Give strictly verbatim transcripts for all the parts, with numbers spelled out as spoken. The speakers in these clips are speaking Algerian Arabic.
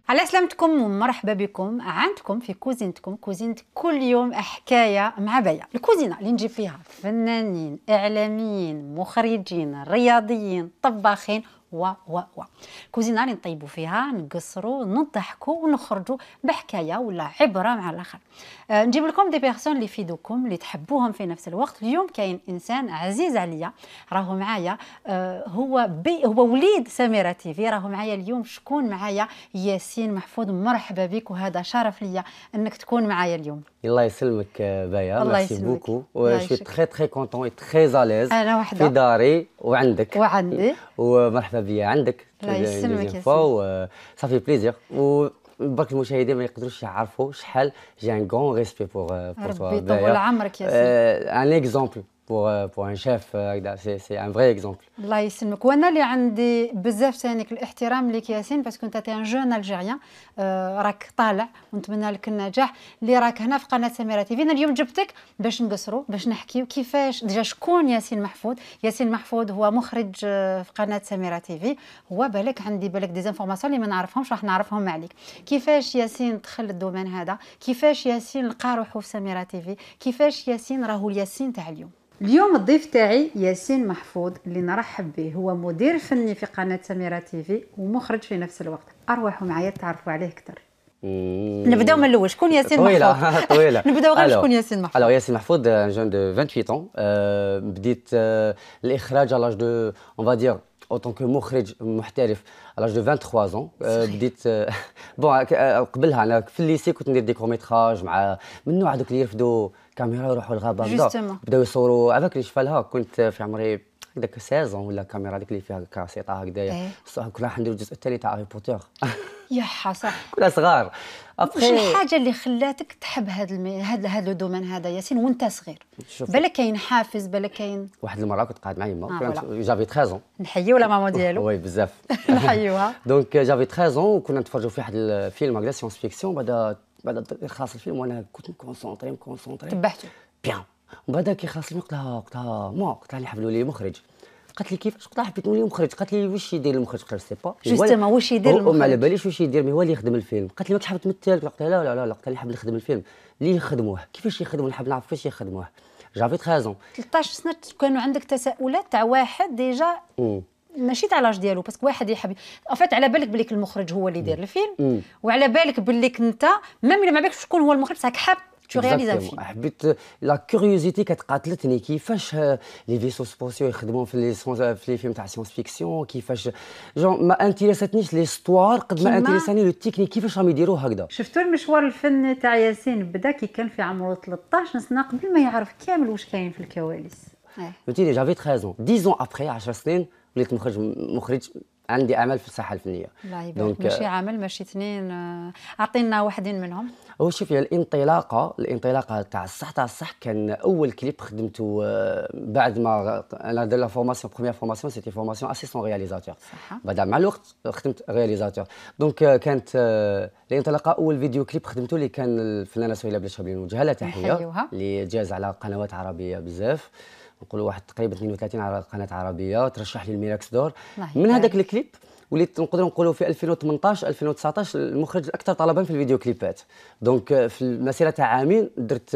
على سلامتكم ومرحبا بكم عندكم في كوزينتكم كوزينة كل يوم حكاية مع بيا. الكوزينة اللي نجيب فيها فنانين إعلاميين مخرجين رياضيين طباخين و و و كوزينة اللي نطيبوا فيها نقصروا نضحكوا ونخرجوا بحكايه ولا عبره مع الاخر. أه نجيب لكم دي بيرسون اللي يفيدوكم اللي تحبوهم في نفس الوقت. اليوم كاين انسان عزيز عليا راهو معايا، أه هو بي هو وليد سميرة تيفي، راهو معايا اليوم. شكون معايا؟ ياسين محفوظ. مرحبا بك وهذا شرف ليا انك تكون معايا اليوم. الله يسلمك بايا، الله ميرسي يسلمك. بوكو و شوي تري تري كونطون اي تري زاليز انا وحده في داري وعندك وعندي. ومرحبا بيا عندك. الله يسلمك يا سي صافي بليزير. وبرك المشاهدين ما يقدروش يعرفوا شحال جي ان غون ريسبي بور بور توا. ربي يطول عمرك يا سيدي. ان اكزومبل بور بور ان شيف هكذا، سي سي ان فري اكزومبل. الله يسلمك. وانا اللي عندي بزاف ثانيك الاحترام لك ياسين، باسكو انت تي ان جون الجيريان، آه راك طالع ونتمنى لك النجاح اللي راك هنا في قناه سميرة تيفي. انا اليوم جبتك باش نقصروا باش نحكيو كيفاش ديجا شكون ياسين محفوظ. ياسين محفوظ هو مخرج في قناه سميرة تيفي. هو بالك عندي بالك دي انفورماسيون اللي ما نعرفهمش راح نعرفهم عليك. كيفاش ياسين دخل الدومين هذا، كيفاش ياسين لقى روحو في سميرة تيفي، كيفاش ياسين راهو الياسين تاع اليوم. اليوم الضيف تاعي ياسين محفوظ اللي نرحب به، هو مدير فني في قناة سميرة تيفي ومخرج في نفس الوقت. أروحوا معايا تعرفوا عليه أكثر. نبداو من الأول، شكون ياسين طويلة محفوظ؟ طويلة. نبداو غير شكون ياسين محفوظ. Alors ياسين محفوظ un jeune de vingt-huit ans. euh, بديت euh, الإخراج à l'âge de on va dire en tant que مخرج محترف à l'âge de vingt-trois ans. euh, بديت بون قبلها أنا في الليسي كنت ندير دي كوميتراج مع من نوع هذوك اللي يرفدوا كاميرا يروحوا للغابة بداو يصوروا هذاك اللي شفالها. كنت في عمري هكذاك ستاشر ولا كاميرا هذيك اللي فيها كاسيطه هكذايا. كنا راح نديرو الجزء الثاني تاع هاري بوتر. يا حسن كنا صغار. واش الحاجه اللي خلاتك تحب هذا المي... هذا هذا الدومين هذا ياسين وانت صغير؟ بالك كاين حافز، بالك كاين. واحد المره كنت قاعد مع يما، آه كنت جافي ثلاثة عام. نحييو لا ماما ديالو. وي بزاف. نحيوها. دونك جافي ثلاثة عام وكنا نتفرجوا في واحد الفيلم هكذا سيونس فيكسيون. بعد بعد خلاص الفيلم وانا كنت مكونسونطري مكونسونطري تبعته بيان. ومن بعد كي خلاص الفيلم قلت لها قلت لها ما قلت لها نحب نولي مخرج. قالت لي كيفاش؟ قلت لها حبيت نولي مخرج. قالت لي واش يدير المخرج؟ قلت لها سي با جوستومون واش يدير المخرج؟ ما على باليش واش يدير، مي هو اللي يخدم الفيلم. قالت لي ماكش حاب تمثل؟ قلت لها لا لا لا لا. قلت لها نحب نخدم الفيلم اللي يخدموه. كيفاش يخدموه؟ نحب نعرف كيفاش يخدموه. جافي ثلاثة عام ثلاثطاش سنه كانوا عندك تساؤلات تاع واحد ديجا ماشي تاع لاج ديالو، باسكو واحد يحب افات على بالك بليك المخرج هو اللي يدير الفيلم، وعلى بالك بليك انت ميم الا ما بالكش شكون هو المخرج بصح حاب تو رياليز الفيلم. حبيت لا كيوريوزيتي كتقاتلتني كيفاش لي فيسو سبوسيو يخدموا في لي في لي فيلم تاع سيونس فيكسيون. كيفاش جون ما انتريساتنيش ليستوار قد ما انتريساني لو تكنيك كيفاش راهم يديروه هكذا. شفتوا المشوار الفني تاع ياسين بدا كي كان في عمره ثلاثطاش سنه قبل ما يعرف كامل واش كاين في الكواليس. فهمتيني جافي ثلاثة عام دix ans ابري عشر سنين وليت مخرج مخرج عندي اعمال في الساحه الفنيه. الله يبارك. ماشي عامل ماشي اثنين، اعطينا واحدين منهم. هو شوفي الانطلاقه الانطلاقه تاع الصح تاع الصح كان اول كليب خدمته بعد ما انا دار لا فورماسيون بروميير فورماسيون سيتي فورماسيون اسيستون رياليزاتور. بعد مع الوقت خدمت رياليزاتور. دونك كانت الانطلاقه اول فيديو كليب خدمته اللي كان الفنانه سهيله بلاشابلي نوجه لها تحيه اللي جاز على قنوات عربيه بزاف، نقولوا واحد تقريبا اثنين وثلاثين على قناه عربيه، ترشح لي الميراكس دور. من هذاك الكليب وليت نقدروا نقولوا في ألفين وثمنطاش ألفين وتسعطاش المخرج الاكثر طلبا في الفيديو كليبات. دونك في المسيره تاع عامين درت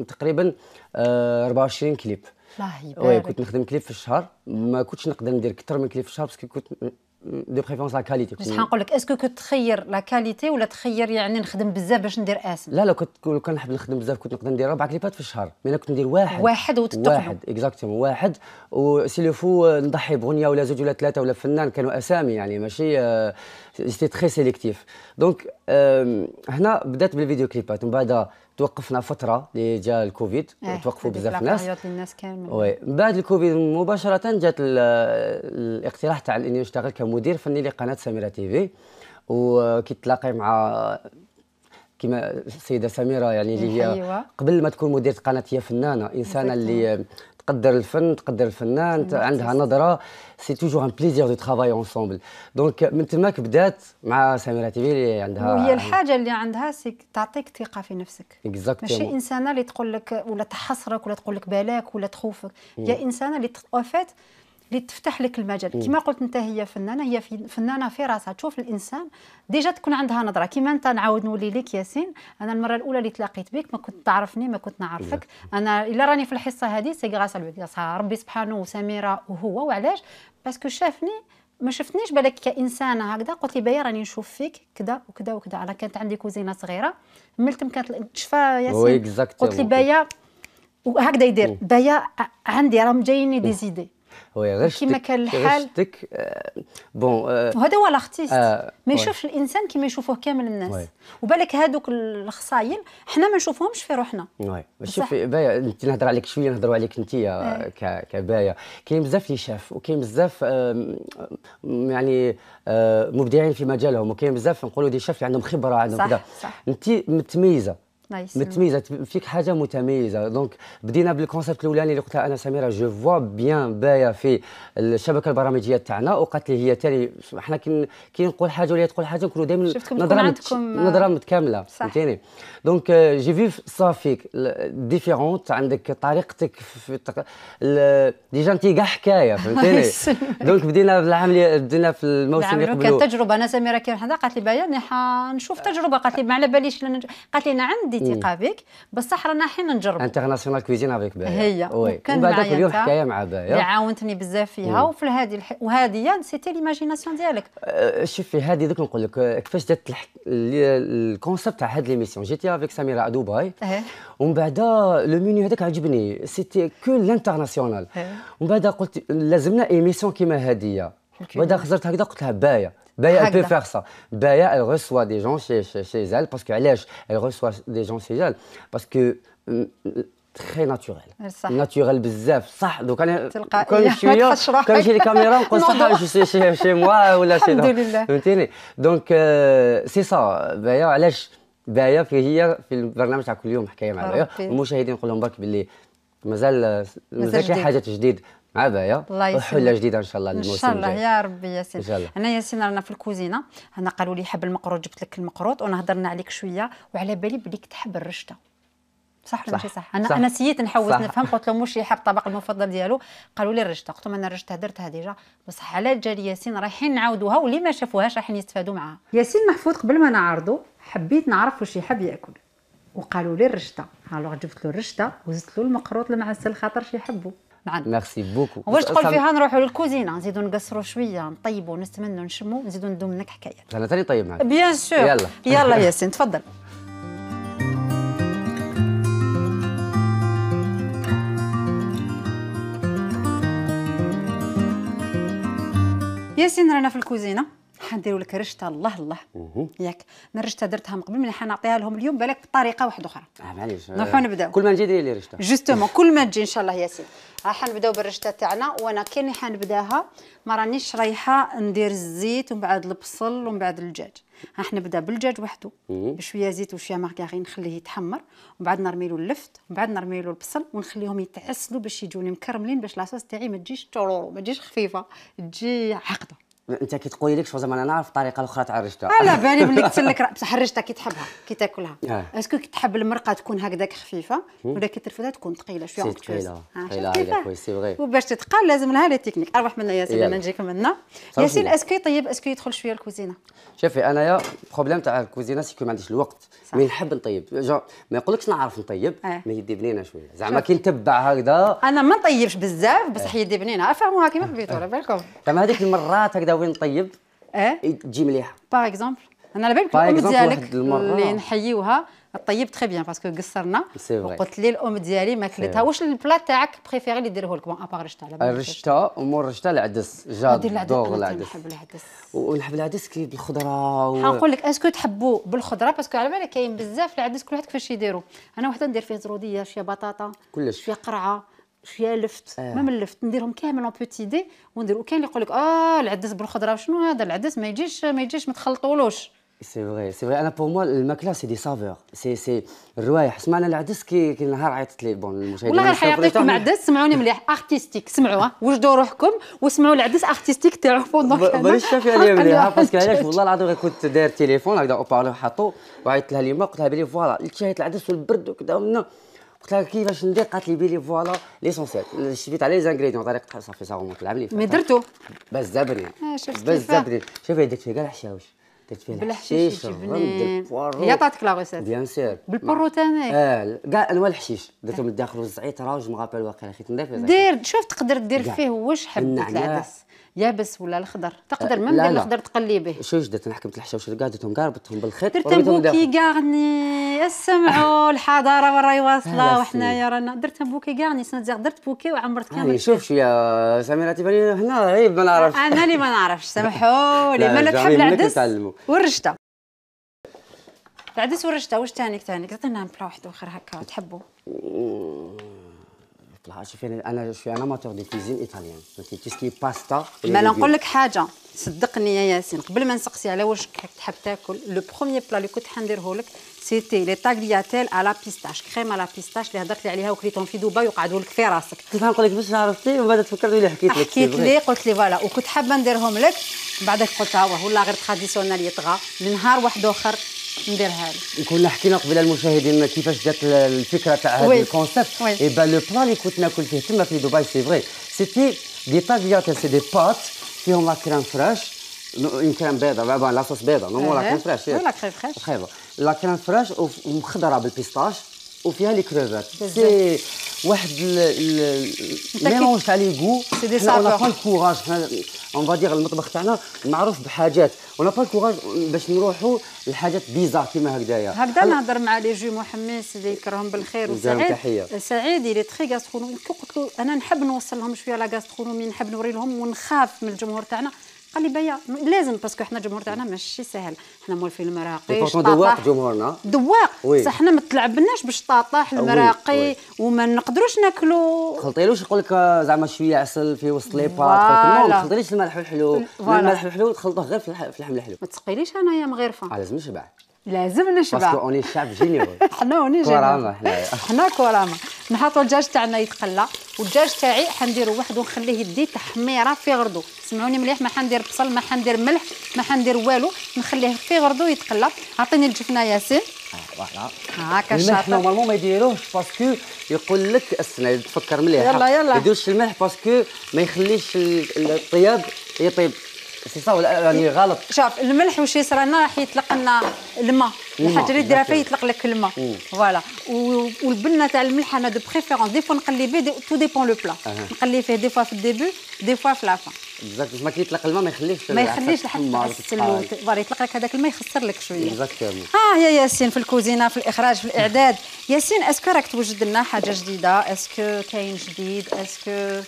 تقريبا أربعة وعشرين كليب. الله يبارك. وي كنت نخدم كليب في الشهر، ما كنتش نقدر ندير اكثر من كليب في الشهر باسكو كنت دو بريفيرونس لا كاليتي. بصح نقول لك اسكو كنت تخير لا كاليتي ولا تخير يعني نخدم بزاف باش ندير اسم؟ لا لا كنت كان نحب نخدم بزاف كنت نقدر ندير اربع كليبات في الشهر، مي انا كنت ندير واحد واحد وتتقنوا واحد اكزاكتومون واحد. وسي لو فو نضحي بغنيه ولا زوج ولا ثلاثه ولا فنان كانوا اسامي يعني ماشي سيتي تري سيليكتيف. دونك هنا بدات بالفيديو كليبات. من بعد توقفنا فتره اللي جا الكوفيد اه توقفوا بزاف ناس. الناس كامل. وي من بعد الكوفيد مباشره جات الاقتراح تاع اني نشتغل كمدير فني لقناه سميرة تيفي. وكي تلاقي مع كما السيده سميره يعني اللي هي قبل ما تكون مديره قناه هي فنانه انسانه اللي تقدر الفن تقدر الفنان عندها نظره. سي توجور ان بليزير دو ترافاي اونسومبل. دونك من تماك بدات مع سميرة تيفي اللي عندها وهي الحاجه اللي عندها سي تعطيك ثقه في نفسك. اكزاكتومون. ماشي انسانه اللي تقول لك ولا تحصرك ولا تقول لك بالك ولا تخوفك. هي انسانه اللي اوفيت اللي تفتح لك المجال. كما قلت انت هي فنانه، هي فنانه في راسها، تشوف الانسان ديجا تكون عندها نظره. كما انت نعاود نولي لك ياسين، انا المره الاولى اللي تلاقيت بك ما كنت تعرفني، ما كنت نعرفك. انا الا راني في الحصه هذه سي غراس ربي سبحانه وسميره وهو. وعلاش؟ باسكو شافني، ما شفتنيش بالك كانسانه هكذا، قلت لي بايا راني نشوف فيك كذا وكذا وكذا. انا كانت عندي كوزينه صغيره ملتم كانت تشفى ياسين، قلت لي بايا وهكذا يدير بايا عندي راهم جاييني دي زيدي. وي كيما كان الحال رشتك آه بون آه وهذا هو الارتيست، آه ما يشوفش الانسان كيما يشوفوه كامل الناس. وي. وبالك هذوك الخصايل حنا ما نشوفوهمش في روحنا. وي شوفي بايا، انت نهضر عليك شويه، نهضروا عليك انت كبايا. كاين بزاف اللي شاف، وكاين بزاف آه يعني آه مبدعين في مجالهم، وكاين بزاف نقولوا دي شاف اللي عندهم خبره، عندهم كذا. انت متميزه متميزه فيك، حاجه متميزه. دونك بدينا بالكونسيبت الاولاني اللي قلتها انا سميره، جو فوا بيان بايا في الشبكه البرامجيه تاعنا. وقالت لي هي تاني، حنا كي كي نقول حاجه ولا تقول حاجه نكونوا ديما نظره مت... نظره متكامله، فهمتيني. دونك جي في صا فيك ديفيرونت، عندك طريقتك في التق... ال... ديجا انت كاع حكايه، فهمتيني. دونك بدينا بالعمليه، بدينا في الموسم اللي قبله كانت تجربه. انا سميره كي حدا قالت لي بايا نشوف تجربه، قالت لي ما على باليش لن... قالت لي انا عندي ثقه بك، بصح رانا حين نجرب انترناسيونال كويزين افيك بايا. هي وكان معايا اليوم حكايه مع بايا اللي عاونتني بزاف فيها. وفي هذه الح... وهذه سيتي ليماجيناسيون ديالك. أه شوفي هذه دوك نقول لك كيفاش جات الح... الكونسيبت تاع هذه ليميسيون. جيتي افيك سميره دبي، ومن بعد لو مينيو هذاك عجبني، سيتي كو لانترناسيونال. ومن بعد قلت لازمنا ايميسيون كيما هذه. بعد خزرت هكذا قلت لها بايا بايا elle peut faire ça. Baya elle reçoit des gens chez, chez, chez elle parce que علاش elle reçoit des gens chez elle parce que très naturel. صح. naturel بزاف. صح دوك انا كل شويه كان يجي لي كاميرا نقول صح جو سي شي موا ولا شي. الحمد لله فهمتيني. دونك سي سا بايا. علاش بايا في هي في البرنامج تاع كل يوم حكايه مع بايا، والمشاهدين نقول لهم برك باللي مازال مازال شي حاجه جديد مع بايا وحله جديده ان شاء الله الموسم الجاي. ان شاء الله يا ربي ياسين. انا ياسين رانا في الكوزينه، انا قالوا لي حب المقروط، جبت لك المقروط ونهضرنا عليك شويه، وعلى بالي بليك تحب الرشته. صح ولا ماشي صح؟ انا صح. انا سييت نحوس نفهم، قلت لهم واش يحب الطبق المفضل ديالو، قالوا لي الرشته. قلت لهم انا الرشته درتها ديجا، بصح على جالي ياسين رايحين نعاودوها، واللي ما شافوهاش رايحين يستفادوا معاها. ياسين محفوظ قبل ما نعرضوا حبيت نعرف واش يحب ياكل، وقالوا لي الرشته. الوغ جبت له الرشته وزدت له المقروط المعسل خاطر شي يحبوا. نعم ميرسي بوكو. واش تقول فيها نروحوا للكوزينه، نزيدوا نقصروا شويه، نطيبوا نستمنوا نشموا، نزيدوا ندوم لك حكايات. انا ثاني طيب معك بيان سور. يلا يلا ياسين تفضل. ياسين رانا في الكوزينه، حنديروا لك رشته. الله الله ياك الرشته درتها من قبل، ملي حنعطيها لهم اليوم بالك بطريقه واحده اخرى. اه معليش نروحوا نبداو. كل ما نجي ديري لي رشته جوستومون كل ما تجي ان شاء الله ياسين. ها حنبداو بالرشته تاعنا، وانا كاني حنبداها ما رانيش رايحه ندير الزيت ومن بعد البصل ومن بعد الدجاج. ها حنبدا بالدجاج وحده بشويه زيت وشويه مارغرين، نخليه يتحمر، ومن بعد نرمي له اللفت، ومن بعد نرمي له البصل، ونخليهم يتعسلوا باش يجوني مكرملين، باش لاصوص تاعي ما تجيش تورورو، ما تجيش خفيفه، تجي عقده. انت كي تقولي لك شو زعما انا نعرف الطريقه الاخرى تاع الرشته. على بالي بلي قلت لك بصح الرشته كي تحبها كي تاكلها آه. اسكو كي تحب المرقه تكون هكذاك خفيفه ولا كي ترفدها تكون ثقيله شويه ثقيله ثقيله كويس سي فغي. وباش تتقال لازم لها لي تكنيك. اروح منا ياسين، انا نجيك منا ياسين. اسكو طيب اسكو يدخل شويه الكوزينه؟ شوفي انايا البروبليم تاع الكوزينه سيكو ما عنديش الوقت، مي نحب نطيب ما يقولكش نعرف نطيب آه. ما يدي بنينه شويه زعما كي نتبع هكذا. انا ما نطيبش بزاف بصح يدي بنينه، افهموها كيما حبيتوا على بالكم. زعما هذيك المرات هكذا وين نطيب اه تجي مليحه. باغ اكزومبل انا على بالك الام ديالك اللي نحيوها طيب تري بيان باسكو قصرنا، وقلت لي الام ديالي ماكلتها. واش البلا تاعك بريفيري اللي ديروه لك؟ بون ابار رشته على بالك الرشته ومور الرشته العدس جادور العدس. نحب العدس ونحب العدس كي بالخضره و... حنقول لك اسكو تحبوا بالخضره، باسكو على بالك كاين بزاف العدس كل واحد كيفاش يديروا. انا وحده ندير فيه زروديه، شويه بطاطا، كلش شويه قرعه، شويه لفت آه. ما من اللفت نديرهم كامل اون بوتي دي وندير. وكاين اللي يقول لك اه العدس بالخضره، شنو هذا العدس ما يجيش ما يجيش ما تخلطولوش. سي فغي سي فغي. انا بور موا الماكله سي دي سافور، سي سي الروايح. سمعنا العدس كي كي نهار عيطت لي بون المشاهدين والله غير حيعطيكم عدس. سمعوني مليح ارتستيك، سمعوها وجدوا روحكم وسمعوا العدس ارتستيك تاعو بوندون. بلاش شافي عليا مليح باسكو علاش والله العظيم غير كنت داير تليفون هكذا او بارلو حطو وعيطت لها اليوم قلت لها بلي فوالا شهيت العدس والبرد وكذا ومنا قلت لها كيفاش ندير؟ قالت لي بيلي فوالا ليسونسيال. شفت على لي زانغريديون طريقه صافي صا ريمونت العام اللي فات مي درتو بزاف بنين شفت بزاف بنين. شوفي درت فيها كاع الحشاوش، درت فيها بالحشيش الرمد البنين. هي عطاتك لا ريسيت بيان سير بالبرو تاني اه كاع انواع الحشيش درتهم من الداخل والزعتر جو مغابل واقيلا خيت نضيف دير. شوف تقدر دير فيه واش حبيت العدس يابس ولا الخضر تقدر من دير الخضر تقلي به. شوش درت؟ انا حكمت الحشاوش كاع درتهم كاع ربطتهم بالخيط درتهم بوكي كاغني. اسمعوا الحضاره وراي واصله وحنايا رانا درتهم بوكي كاغني. سنتزيغ درت بوكي وعمرت كامل. شوف شويه سميرة تباني هنا عيب ما نعرفش. انا اللي ما نعرفش سامحوا لي. مالك تحب العدس والرشته؟ العدس والرشته واش ثاني ثاني؟ عطينا بلا واحد اخر هكا تحبوا. شوفي انا شويه انا ماتور دي كوزين ايطاليان فهمتي تسكي باستا. ما نقول لك حاجه صدقني يا ياسين قبل ما نسقسي على واش تحب تاكل لو بروميير بلا اللي كنت حنديره لك سيتي لي طاغلياتيل على بيستاش كريم على بيستاش اللي هضرت لي عليها وكليتهم في دبي وقعدوا لك في راسك. كيف نقول لك باش عرفتي ومن بعد تفكرت لي حكيت لك حكيت لي قلت لي فوالا وكنت حابه نديرهم لك من بعدك قلت ها هو ولا غير تراديسيونال يطغى لنهار واحد اخر نديرها لك. كنا حكينا قبل المشاهدين كيفاش جات الفكره تاع هذا الكونسيبت. اي با لو بلان اللي كنت ناكل فيه تما في دبي سي فري سيتي دي طاغلياتيل سي دي بات فيهم لا كريم فريش une crème بيضاء بون لا صوص بيضاء نو لا كريم فريش لا كريم فريش خايبه لا كريم فريش ومخضره بالبيستاش وفيها لي كروفات سي واحد الميلونج تاع لي غو. سي دي سافور سافور با الكوراج اون فادير المطبخ تاعنا معروف بحاجات ونا با الكوراج باش نروحوا لحاجات بيزار كيما هكذايا. هكذا نهضر مع لي جو محمس اللي يكرههم بالخير وسعيد سعيد اللي تخي غاسترونومي قلت له انا نحب نوصل لهم شويه لا غاسترونومي نحب نوري لهم ونخاف من الجمهور تاعنا. قال لي بيا لازم باسكو حنا الجمهور تاعنا ماشي ساهل حنا مولفين المراقي دواق جمهورنا دواق صح حنا ما تلعبناش بالشطاطاح المراقي وما نقدروش ناكلوا. خلطيلوش يقول لك زعما شويه عسل في وسط لي بات ما تخلطيليش الملح والحلو. الملح والحلو تخلطوه غير في اللحم الحلو. ما تسقيليش انايا مغرفه لازم نشبع لازم نشبع باسكو اوني شعب جينيرو. حنا اوني كراما حنايا حنا كراما. نحطوا الدجاج تاعنا يتقلى والدجاج تاعي حنديرو واحد ونخليه يدي تحميره في غردو. سمعوني مليح ما حندير بصل ما حندير ملح ما حندير والو نخليه في غردو يتقلى. عطيني الجفنه ياسين. فوالا هاكا الشاطر. الملح نورمالمون ما يديروهش باسكو يقول لك استنى تفكر مليح يلا يلا ما يديروش الملح باسكو ما يخليش الطياب يطيب سي صا ولا راني غلط؟ شوف الملح واش يصرى لنا راح يطلق لنا الماء الحاجه اللي ديرها فيه يطلق لك الماء فوالا. والبنه تاع الملح انا دو بريفيرونس دي فوا نقلي به تو ديبون لو بلا نقلي فيه دي فوا في الديبي دي فوا في لافان اكزاكت. ما كي يطلق الماء ما يخليش ما يخليش لحد تعسل فوالا يطلق لك هذاك الماء يخسر لك شويه. اكزاكتومون. اه يا ياسين في الكوزينه في الاخراج في الاعداد. ياسين اسكو راك توجد لنا حاجه جديده؟ اسكو كاين جديد؟ اسكو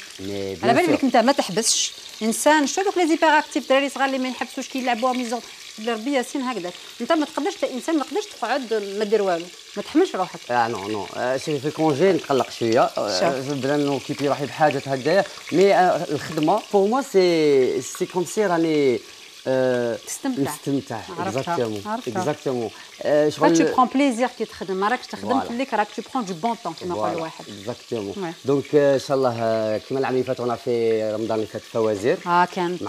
على بالي بك انت ما تحبسش انسان شو دوك لي زيبر اكتيف دراري صغار اللي ما يحبسوش كيلعبوها ميزون ربي ياسين هكذاك انت ما تقدرش انسان ما تقدرش تقعد ما دير والو ما تحملش روحك. اه نو نو شوفي في الكونجي نتقلق شويه بدا نوكيبي روحي بحاجه هكذايا مي الخدمه بور موا سي سي كوم سي راني تستمتع نستمتع اكزاكتومون اكزاكتومون شغل تو برون بليزير كي تخدم ما راكش تخدم خليك راك تو برون دو بون طون كيما يقول واحد اكزاكتومون. دونك ان شاء الله كيما العام اللي فات وانا في رمضان اللي فات فوازير اه كانت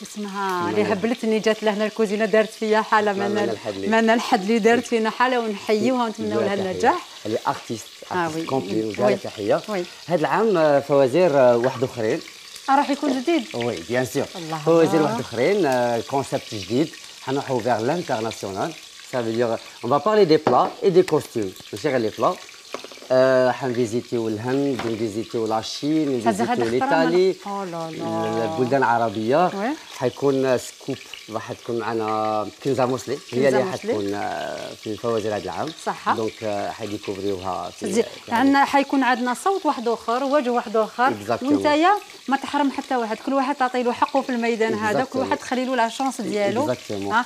اسمها اللي هبلتني جات لهنا الكوزينه دارت فيا حاله من الحد اللي دارت فينا حاله ونحيوها ونتمنوا لها النجاح. اللي ارتيست ارتيست كومبلي وجالها تحيه. هذا العام فوازير واحد اخرين راح يكون جديد. وي بيان سور فوازير واحد اخرين كونسيبت جديد حنروحوا فيغ لانترناسيونال. سا فو دير اون فا بارلي دي بلا اي دي كوستيم ماشي غير لي بلا. حنفيزيتيو الهند نفيزيتيو لاشين نفيزيتيو الايطالي البلدان العربيه. حيكون سكوب راح تكون معنا كنزه مسلي هي اللي حتكون في الفوازير هذا العام صح. دونك حيديكوفريوها في عندنا حيكون عندنا صوت واحد اخر وجه واحد اخر وانتيا ما تحرم حتى واحد كل واحد تعطي له حقه في الميدان هذا كل واحد تخلي له لا شونس ديالو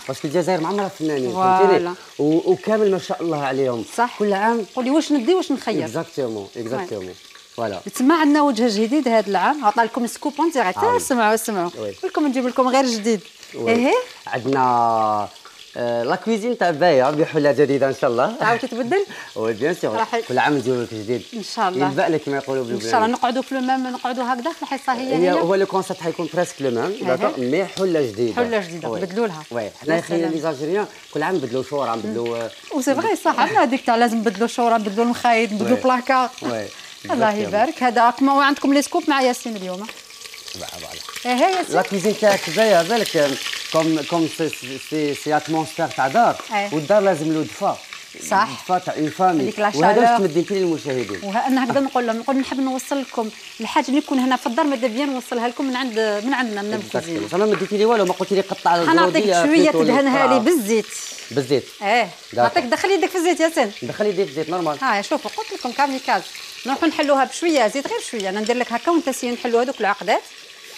باسكو الجزائر معمرها فنانين فهمتيني وكامل ما شاء الله عليهم صح. كل عام قولي واش ندي واش نخير اكزاكتومون اكزاكتومون فوالا. تسمع عندنا وجه جديد هذا العام عطى لكم سكوب اون ديريكت. سمعوا سمعوا لكم نجيب لكم غير جديد. ايه عندنا لا كويزين تاع بايا بحله جديده ان شاء الله. تعاود تتبدل؟ وي بيان سور كل عام نديرو لك جديد ان شاء الله. يلبق لك كما يقولوا ان شاء الله. نقعدوا في لو ميم، نقعدوا هكذا في الحصه هي هي. هو لو كونسيبت حيكون بريسك لو ميم داكور، مي حله جديده. حله جديده نبدلوا لها. وي حنا خلينا لي زالجيريان كل عام نبدلوا شوره نبدلوا. وسي فغي صح، عندنا هذيك تاع لازم نبدلوا شوره، نبدلوا المخايد، نبدلوا بلاكار. وي الله يبارك. هذا كما عندكم لي سكوب مع ياسين اليوم. ايه هي ياسين. لا كوزين تاعك بايا بالك كوم كوم سي سي اتموسفير تاع دار، والدار لازم له دفا. صح. دفا تاع اون فامي، وهذا واش تمدي انت للمشاهدين. وانا هكذا نقول لهم، نقول نحب نوصل لكم الحاجه اللي يكون هنا في الدار، ماذا بيا نوصلها لكم من عند من عندنا من الكوزينه. انا ما ديتي لي والو، ما قلتي لي قطع الزروديه. نعطيك شويه تدهنها لي بالزيت. بالزيت. ايه نعطيك. دخل يدك في الزيت ياسين. دخل يدي في الزيت نورمال. ها شوفوا قلت لكم كاميكاز. نروحوا نحلوها بشويه زيت، غير شويه. انا ندير لك هكا وانت سي نحلوا هذوك العقدات.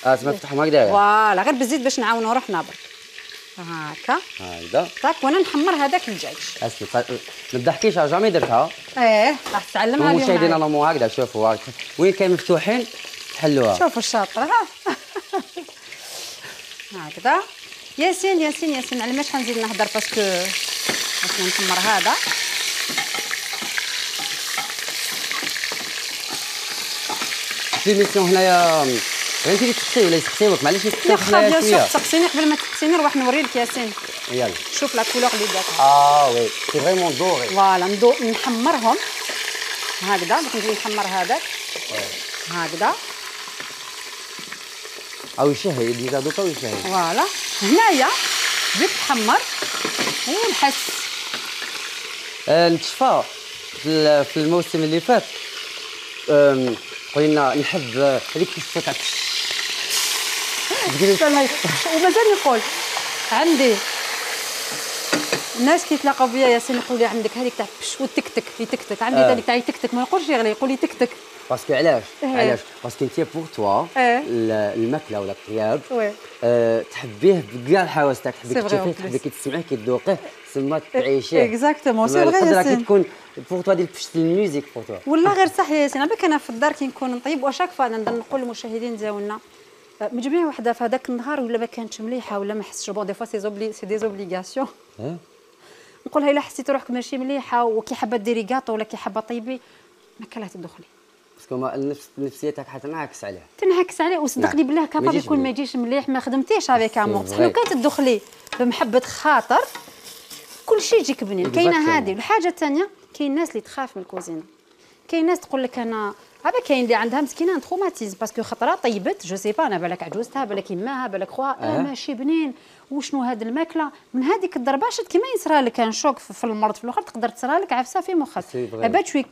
اه تما نفتحهم هكذايا. فوالا غير بالزيت باش نعاونوا روحنا برك. هكا هكذا. طاك وانا نحمر هذاك الدجاج. اسكي ما تضحكيش جامي درتها. ايه راح تتعلمها اليوم. المشاهدين نورمال هكذا شوفوا وين كاين مفتوحين حلوها. شوفوا الشاطر ها. هكذا. ياسين ياسين ياسين على ماش حنزيد نهضر باسكو باش نحمر هذا. في ميسيون هنايا انت اللي تسقسي ولا يسقسيوك؟ معليش نسقسيوك شويه شويه. تسقسيني قبل ما تسقسيني نروح نوريلك ياسين. يلا شوف لا كولور اللي داتها. اه وي سي فريمون دوري. فوالا ندو نحمرهم هكذا. باش نجي نحمر هذاك هكذا. او يشهي ديجا دوكا ويشهي. فوالا هنايا بديت تحمر ونحس. آه نتشفى في, في الموسم اللي فات. قلنا نحب هذيك الصوت تاع ومازال نقول عندي الناس كي يتلاقاو بيا ياسين يقول لي عندك هذيك تاع بش وتكتك يتكتك. عندي ذلك آه. تاع يتكتك ما يقولش يغلي، يقول لي تكتك. باسكو علاش؟ علاش؟ باسكو انت بور توا الماكله ولا الطياب أه تحبيه بكاع الحواس تاعك، تحبي تشوفيه، تحبي كي تسمعيه كي تذوقيه تسمى تعيشيه. اكزاكتومون سي فغي ياسين. كي تكون بور توا ديال بشت الميوزيك بور توا. والله غير صح ياسين. عباك انا في الدار كي نكون نطيب واشاك فوا نقدر نقول للمشاهدين ديالنا مجموعه وحده في هذاك النهار ولا ما كانتش مليحه ولا ما حسيتش بون دي فوا سي زوبلي سي دي زوبليغاسيون. نقولها الا حسيتي روحك ماشي مليحه وكي حابه ديري كاطو ولا كي حابه طيبي ما كان لا تدخلي. باسكو ما النفس النفسيه تاعك حتنعكس عليه. تنعكس عليه وصدقني بالله كابابل يكون ما يجيش مليح ما خدمتيش افيك امور. لو كانت تدخلي بمحبه خاطر كل شيء يجيك بنين. كاينه هذه. والحاجه الثانيه كاين الناس اللي تخاف من الكوزينه. كاين ناس تقول لك انا هذا كاين اللي عندها مسكينه تروماتيزم باسكو خطره طيبت جو سي با انا بالك عجوزتها بالك يماها بالك خوها أه. ماشي بنين وشنو هذه الماكله من هذيك الضربه شت كيما يصرى لك كان شوك في المرض في الاخر تقدر تصرى لك عفسه في مخك. ابات شوي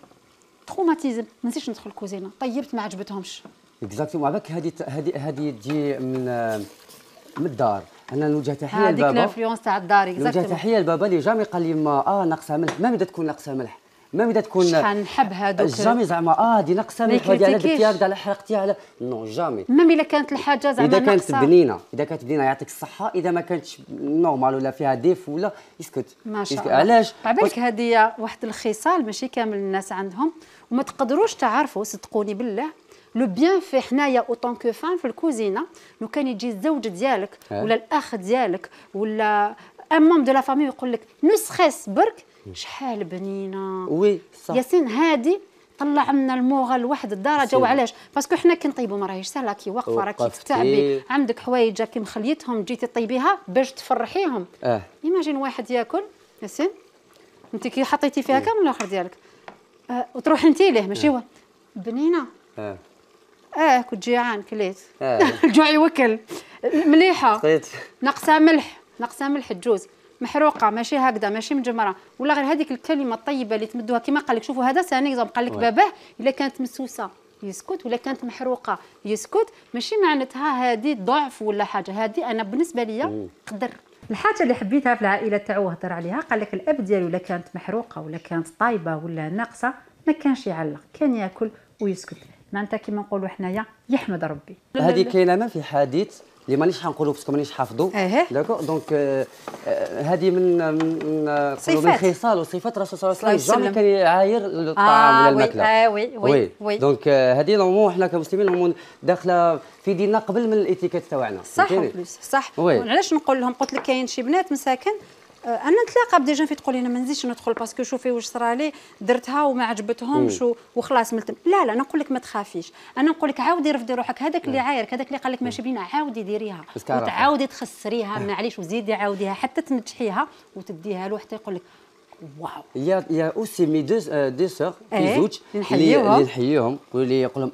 تروماتيزم ما نسيتش ندخل الكوزينه طيبت ما عجبتهمش. اكزاكتومون عباك هذه هذه هذه تجي من من الدار. انا نوجه تحيه لبابا. هذيك الانفلونس تاع الدار اكزاكتومون. نوجه تحيه لبابا اللي جامي قال لي ما اه ناقصه ملح ما بدا تكون ناقصه ملح ما بدا تكون شحال نحب هذوك جامي زعما اه دي ناقصه ملح هذه على درتيها هكذا على حرقتيها على نو جامي. ميم الا كانت الحاجه زعما اذا كانت بنينه اذا كانت بنينه يعطيك الصحه. اذا ما كانتش نورمال ولا فيها ديف ولا يسكت. ما شاء الله. علاش؟ عبالك هذه واحد الخصال ماشي كامل الناس عندهم وما تقدروش تعرفوا صدقوني بالله لو بيان في حنايا اوتون كو فان في الكوزينه. لو كان يجي الزوج ديالك ولا الاخ ديالك ولا ان مون دو لا فامي يقول لك نو ستريس برك شحال بنينه. وي صح ياسين هادي طلع لنا الموغه لواحد الدرجه. وعلاش؟ باسكو حنا كي نطيبوا ما راهيش سهله كي واقفه راكي تتعبي عندك حوايج كي مخليتهم جيتي طيبيها باش تفرحيهم. اه ايماجين واحد ياكل ياسين انت كي حطيتي فيها كامل الاخر ديالك آه وتروحي انت ليه ماشي هو بنينه. اه اه كنت جيعان كليت. اه الجوع يوكل. مليحه صيت ناقصه ملح ناقصه ملح الجوز محروقه ماشي هكذا ماشي مجمره ولا غير هذيك الكلمه الطيبه اللي تمدوها كما قال لك. شوفوا هذا ثاني اكزومبل قال لك باباه الا كانت مسوسه يسكت ولا كانت محروقه يسكت ماشي معناتها هذه ضعف ولا حاجه. هذه انا بالنسبه لي قدر. الحاجه اللي حبيتها في العائله تاعو هضر عليها قال لك الاب ديالو الا كانت محروقه ولا كانت طايبه ولا ناقصه ما كانش يعلق كان ياكل ويسكت. معناتها كيما نقولوا حنايا يحمد ربي. هذه كاينه ما في حديث اللي مانيش حنقولوا باسكو مانيش حافظو. داكو دونك هذه من من من خصال وصفات الرسول صلى الله عليه وسلم. جامي كان يعاير الطعام ولا الماكله. اه وي وي وي دونك هذه نورمون حنا كمسلمين نورمون داخله في ديننا قبل من الاتيكيت تاعنا. صح بلوس صح. وعلاش نقول لهم قلت لك كاين شي بنات مساكن انا نتلاقى بدي جون في تقول لي انا ما نزيدش ندخل باسكو شوفي واش صرا لي درتها وما عجبتهمش وخلاص ملتم. لا لا، انا نقول لك ما تخافيش، انا نقول لك عاودي رفدي روحك، هذاك اللي عايرك هذاك اللي قال لك ماشي بينا عاودي ديريها وتعاودي تخسريها معليش وزيدي عاوديها حتى تنجحيها وتديها له حتى يقول لك واو. يا يا اوسي مي دو دو سور في زوج اللي نحييهم واللي يقول لهم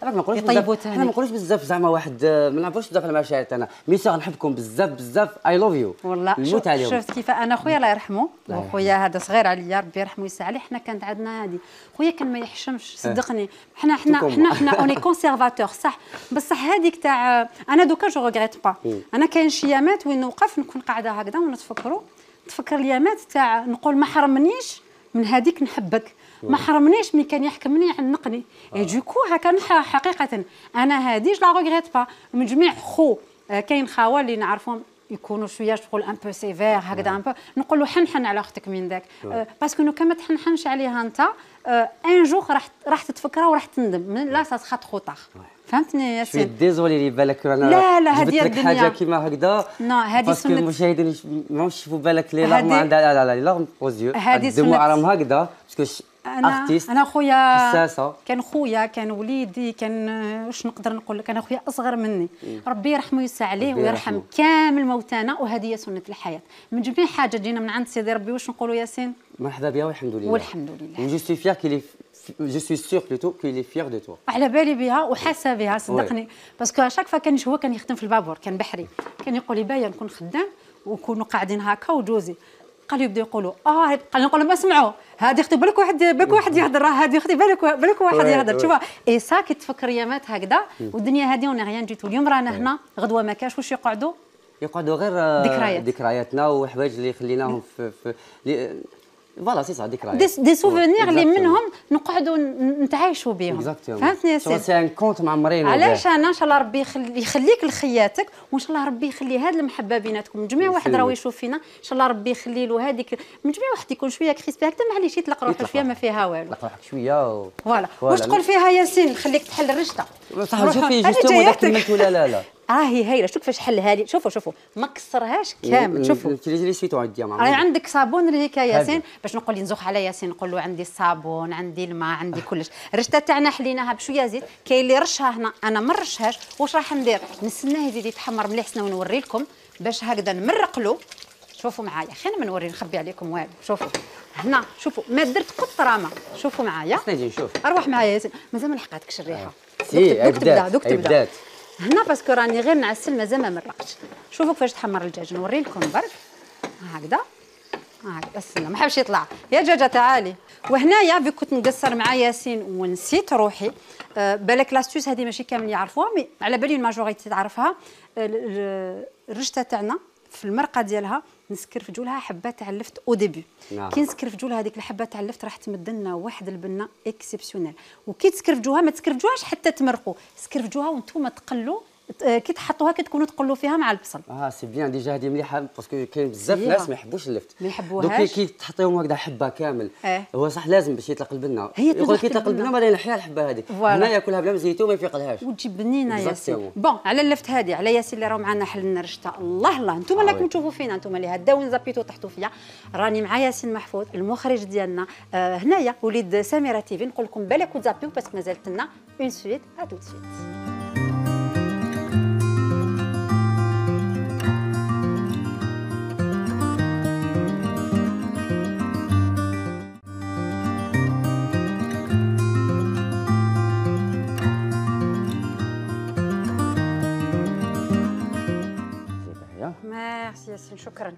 راك ما نقولوش بزاف، انا ما نقولوش بزاف زعما واحد ما نعرفوش بزاف المشاعر تاعنا، مي سور نحبكم بزاف بزاف، اي لوف يو والله. نموت عليهم. شفت كيف انا خويا الله يرحمه، خويا هذا صغير عليا ربي يرحمه ويسع عليه، حنا كانت عندنا هذه خويا كان ما يحشمش صدقني، حنا حنا حنا حنا اوني كونسيرفاتور صح، بصح هذيك تاع انا دوكا جو ريغريت با، انا كاين شي يامات وين نوقف نكون قاعده هكذا ونتفكروا، تفكر اليامات تاع نقول ما حرمنيش من هذيك نحبك، ما حرمنيش ملي كان يحكمني يعنقني، اي دوكو هكا حقيقه انا هذه جو لا ريغريت با. من جميع خو كاين خاوه اللي نعرفهم يكونوا شويه تقول ان بو سيفير هكذا ان بو، نقول له حنحن على اختك من ذاك باسكو نو كما تحنحنش عليها انت ان جوغ راح راح تتفكرها وراح تندم، لا سا تخا تخو طاخ. فهمتني ياسين؟ شويه ديزولي اللي بالك انا لا لا هذه الدنيا حاجه كيما هكذا نو هذه سنه باسكو المشاهدين ماهمش يشوفوا بالك لي لارم عندها لا لا لا لارم اوزيو الدموع راهم هكذا باسكو انا ارتيست انا خويا حساسه، كان خويا كان وليدي كان واش نقدر نقول لك، انا خويا اصغر مني ربي يرحمه ويسع عليه ويرحم كامل موتانا، وهذه هي سنه الحياه. من جميع حاجه جينا من عند سيدي ربي واش نقولوا ياسين؟ مرحبا بها والحمد لله والحمد لله. جو سوي فيير كيلي جو سوي سور بلوتو كيلي فيير دو تو، على بالي بها وحاسه بها صدقني، باسكو شاك فوا كان هو كان يخدم في البابور كان بحري، كان يقول لي بايا نكون خدام ونكونوا قاعدين هكا وجوزي قالوا يبداو يقولوا اه قال نقول لهم اسمعوا هذه اختي بالك واحد بالك واحد يهضر، هذه اختي بالك بالك واحد يهضر، شوف اي سا كي تفكر يامات هكذا والدنيا هذه اون ريان ديتو. اليوم رانا هنا غدوه ما كاش واش يقعدوا يقعدوا غير ذكريات ذكرياتنا وحوايج اللي خليناهم في في فوالا سي صا ذكريات دي سوفونير اللي منهم نقعدوا نتعايشوا بهم. فهمتني يا سيدي؟ سي ان كونت معمرين. علاش انا ان شاء الله ربي يخليك لخياتك وان شاء الله ربي يخلي هذه المحبه بيناتكم. من جميع واحد راهو يشوف فينا ان شاء الله ربي يخلي له هذيك، من جميع واحد يكون شويه كريسبي هكذا معليش يطلق روحه شويه ما فيها والو، يطلق روحك شويه فوالا. واش تقول فيها ياسين؟ خليك تحل الرشته صح. شوفي جوستومون داك كملت ولا لا لا راهي هايله. شوف كيفاش حلها لي، شوفوا شوفوا ما كسرهاش كامل. شوفوا لي سويتو عندي مع راهي عندك صابون اللي هيك ياسين باش نقول لي نزوخ على ياسين نقول له عندي الصابون عندي الماء عندي كلش. الرشته تاعنا حليناها بشويه زيت، كاين اللي رشها هنا انا ما نرشهاش. واش راح ندير؟ نستناه يزيد يتحمر مليح سنه ونوري لكم باش هكذا نمرق له. شوفوا معايا خلينا ما نوري نخبي عليكم والو. شوفوا هنا شوفوا ما درت قطره ما. شوفوا معايا نجي نشوف. اروح معايا ياسين مازال ما لحقاتكش الريحه. دوك تبدا دوك تبدا هنا باسكو راني غير نعسل مازال ما مرقتش. شوفوا كيفاش تحمر الدجاج نوري لكم برك هكذا هكذا. استنى ما حبش يطلع يا دجاجه تعالي. وهنايا في كنت نقصر مع ياسين ونسيت روحي أه بالك لاستوس هذه ماشي كامل يعرفوها مي على بالي الماجوريتي تعرفها. الرشته تاعنا في المرقه ديالها نسكرفجوا لها حبات تاع اللفت او ديبي. نعم. كي نسكرفجوا لها هذيك الحبات تاع اللفت راح تمد لنا واحد البنه اكسبسيونيل. وكي تسكرفجوها ما تسكرفجوهاش حتى تمرقوا، سكرفجوها وانتم تقلوا كي تحطوها كي تكونوا تقلوا فيها مع البصل. اه سي بيان ديجا هذه مليحه باسكو كاين بزاف ناس ما يحبوش اللفت ما يحبوهاش. دوك كي تحطيهم هكذا حبه كامل اه. هو صح لازم باش يطلق البنه يقول كي يطلق البنه بعدين يحيا الحبه هذه هنا ياكلها بلا زيتون ما يفيقلهاش وتجي بنينه ياسين. بون على اللفت هذه على ياسين اللي راهو معنا حلنا رشته. الله الله انتم راكم تشوفوا فينا انتم اللي هداو نزابيتو طحتوا فيا. راني مع ياسين محفوظ المخرج ديالنا آه هنايا وليد سميره تيفي. نقول لكم بالك وتزابيو باسكو مازالت لنا اون سويت ا تو سويت. ميرسي ياسين شكرا.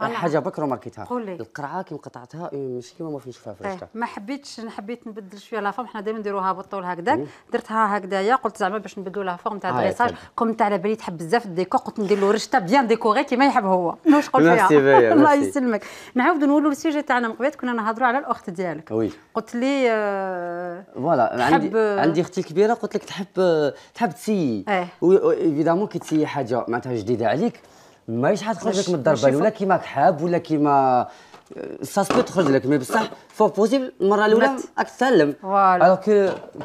حاجه بكره ماركيتها قولي. القرعه كي قطعتها ماشي كيما ما نشوفها في الرشته. ما حبيتش حبيت نبدل شويه لا فورم. حنا دائما نديروها بالطول هكذاك. درتها هكذايا قلت زعما باش نبدلوا لا فورم تاع الدريساج. كوم تاع على بالي تحب بزاف الديكور قلت ندير له رشته بيان ديكوري كيما يحب هو. واش قلت فيها؟ الله يسلمك. نعاودوا نولوا السيجي تاعنا من قبل كنا نهضروا على الاخت ديالك. وي. قلت لي فوالا عندي عندي اختي الكبيره قلت لك تحب تحب تسيي. ايفيدامون كي تسيي حاجه معناتها جديده عليك ماهيش حتخرج لك من الضربه ولا كيما حاب ولا كيما ساسبو تخرج لك مي بصح فور بوسيبل المره الاولى راك تسلم. الوغ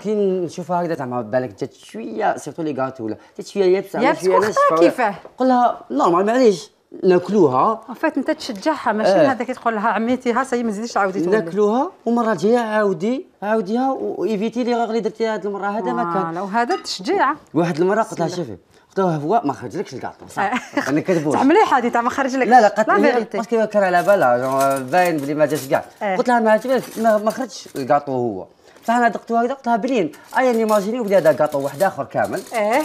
كي نشوفها هكذا زعما بالك جات شويه سيرتو لي غاتو ولا جات شويه يابسه شويه ناشفه كيفاه قول لها نورمال معليش ناكلوها. ان فيت انت تشجعها ماشي آه. هذاك تقول لها عميتيها سي ما تزيديش تعاودي تولي. ناكلوها ومره جايه عاودي عاوديها وايفيتي لي غير اللي درتيها هذه المره هذا ما كان. وهذا التشجيع. واحد المره قلت لها شوفي قلت لها هو ما خرجلكش الكاطو صح انا كذبوش صح مليحه هذه تاع ما خرج لك. لا لا قالت لي باسكو كان على بالها باين بلي ما جاش كاع. قلت لها ما ما خرجش الكاطو هو. فانا دقتو هكذا قلت لها بلين ايا نيماجيني وبدا هذا كاطو واحد اخر كامل. اه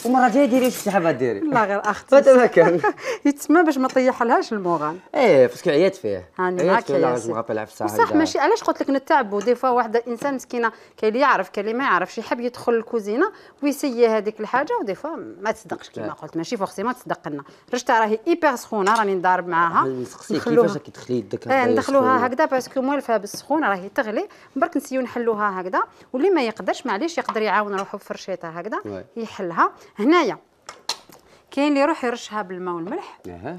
ومره جايه ديري واش حابه ديري. لا غير اختي هذا كان يتسمى باش ما طيحلهاش المورال. ايه باسكو عيات فيه عيات فيه لا ما غابلها في الساعه. صح ماشي علاش قلت لك نتعبوا دي فوا واحده انسان مسكينه كاين اللي يعرف كاين اللي ما يعرفش يحب يدخل الكوزينه ويسيي هذيك الحاجه ودي فوا ما تصدقش كيما قلت ماشي فورسي ما تصدق لنا. رشتها راهي ايبر سخونه راني نضارب معاها. نسقسيك كيفاش كي تخلي يدك هكذا. ندخلوها هكذا باسكو موالفه بالسخونه راهي تغلي برك نسيو نحلوها هكذا واللي ما يقدرش معليش يقدر يعاون روحو بفرشيطه هكذا يحلها. هنايا كاين اللي يروح يرشها بالماء والملح. اها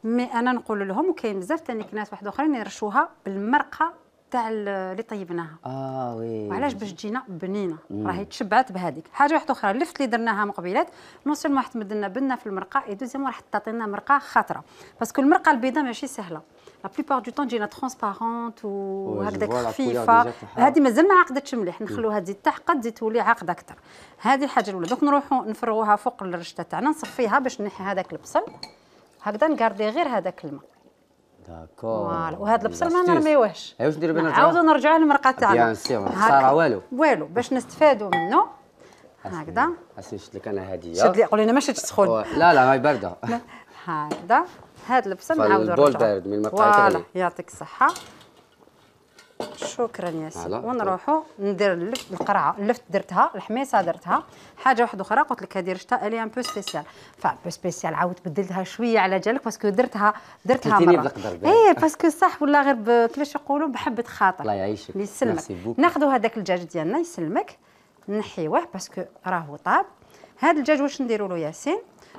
مي انا نقول لهم وكاين بزاف ثاني ناس واحد اخرين يرشوها بالمرقه تاع اللي طيبناها. اه وي وعلاش باش تجينا بنينه راهي تشبعت بهذيك. حاجه واحده اخرى اللفت اللي درناها مقبلات نون سيلمون راح تمد لنا بنه في المرقه اي دوزيامون راح تعطينا مرقه خضراء باسكو المرقه البيضاء ماشي سهله لا بليبار دو طون تجينا ترونسبارونت وهكذاك خفيفه. هذه مازال ما عقدتش مليح نخلوها تزيد تحقد تزيد تولي عاقده اكثر. هذه الحاجه الاولى. دوك نروحوا نفرغوها فوق الرشته تاعنا نصفيها باش نحي هذاك البصل هكذا نكاردي غير هذاك الماء. داكور فوالا وهذا البصل ما نرميوهش. اي واش نديرو بنا نعاودو نرجعوا للمرقه تاعنا. بيان سيغ ما صار والو والو باش نستفادوا منه هكذا. اسمي شفت لك انا هديه شد لي قولي لنا ما شدش سخون. لا لا هاي بارده. هكذا هذا البصل نعاودو نرجعو. البول بارد من المرقه فوالا يعطيك الصحه. شكرا ياسين. ونروحوا ندير اللفت القرعه اللفت درتها الحميصه درتها. حاجه واحده اخرى قلت لك هذه رشتها الي ان بو سبيسيال فا بو سبيسيال عاود بدلتها شويه على جالك باسكو درتها درتها مره. ايه باسكو صح ولا غير كيفاش يقولوا بحبه خاطر. الله يعيشك يسلمك. ناخذوا هذاك الدجاج ديالنا يسلمك نحيوه باسكو راهو طاب. هذا الدجاج واش نديروا له ياسين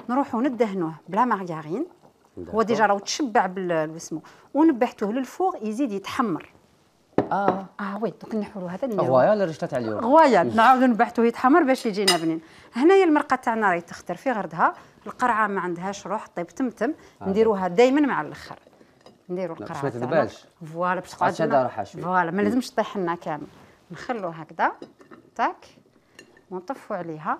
نروحوا ندهنوه بلا مارغارين. هو ديجا راهو تشبع بالوسمو ونبحتوه للفوغ يزيد يتحمر. اه اه وي دوك نحولوا هذا نديرو غوايه ولا رشته تاع اليوم غوايه نعاودو نبحثوه يتحمر باش يجينا بنين. هنايا المرقه تاعنا راهي تختر في غردها. القرعه ما عندهاش روح طيب تمتم آه. نديروها دائما مع الاخر نديروا القرعه باش ما تذبالش فوالا باش تقعد روحها شويه فوالا ما لازمش تطيح لنا كامل. نخلوه هكذا تاك ونطفوا عليها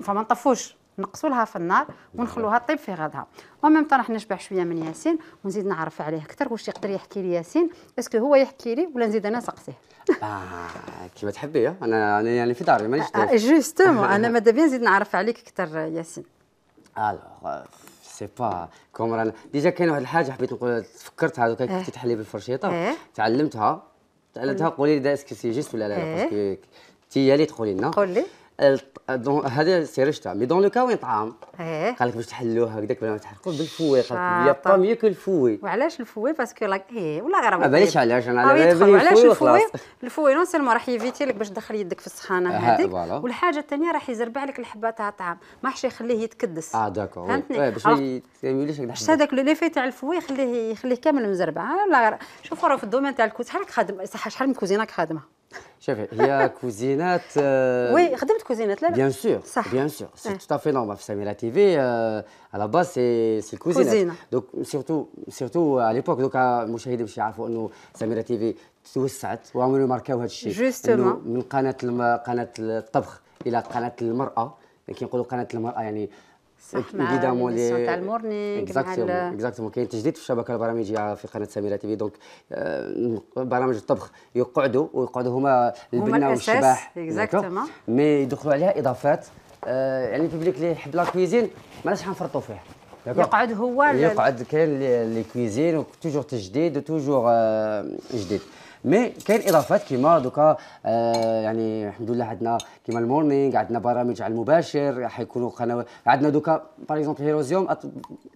فما نطفوش نقصوا لها في النار ونخلوها طيب في غدها. وميم طون راح نشبع شويه من ياسين ونزيد نعرف عليه اكثر واش يقدر يحكي لي ياسين اسكو هو يحكي لي ولا نزيد انا نسقسيه. اه كيما تحبي انا انا يعني في داري مانيش آه جوستومون انا ماذا بيان نزيد نعرف عليك اكثر ياسين. الوغ سي با كوم رانا ديجا كاين واحد الحاجه حبيت نقول تفكرتها دوكا كنتي تحلي بالفرشيطه اه. تعلمتها تعلمتها قولي لي اسكو سي جيست ولا لا اه. باسكو تي هي اللي تقولي لنا قول لي هذا سي رشته مي دون لو كا وين طعام قال لك باش تحلوه هكذاك بلا ما تحرقوا بالفوي قال لك يا با ميو كو الفوي. وعلاش الفوي باسكو لاك ايه ولا غير ما باليش علاش انا على بالي علاش الفوي الفوي نون سيلمون راح يفيتي لك باش تدخل يدك في السخانه هذيك والحاجه الثانيه راح يزربع لك الحبه تاع الطعام ما راحش يخليه يتكدس. اه داكور فهمتني باش ما يوليش هكذا هذاك لي في تاع الفوي يخليه يخليه كامل مزربع. لا غير شوفوا راه في الدومين تاع الكوز شحال خادم صح شحال من كوزيناك خادمه. شوفي هي كوزينات وي خدمت كوزينات لا لا بيان سور بيان سور سي تو افي نورمال في سميرة تي في على باز سي سي الكوزينات دونك سيرتو سيرتو على ليبوك دوكا المشاهدين باش يعرفوا انه سميرة تي في توسعت وعملوا ماركاو هذا الشيء من قناه قناه الطبخ الى قناه المراه كي نقولوا قناه المراه يعني صح مع السون تاع المورنينغ اكزاكتومون اكزاكتومون كاين تجديد في الشبكه البرامجيه في قناه سميرة تي في دونك برامج الطبخ يقعدوا ويقعدوا هما البنه والشباح اكزاكتومون مي يدخلوا عليها اضافات يعني البوبليك اللي يحب لا كويزين ماناش حنفرطوا فيه يقعد هو يقعد كاين لي كويزين وتوجور تجديد وتوجور جديد مي كاين اضافات كيما دوكا آه يعني الحمد لله عندنا كيما المورنينغ عندنا برامج على المباشر حيكونوا قنوات عندنا دوكا باغ اكزومبل هيروزيوم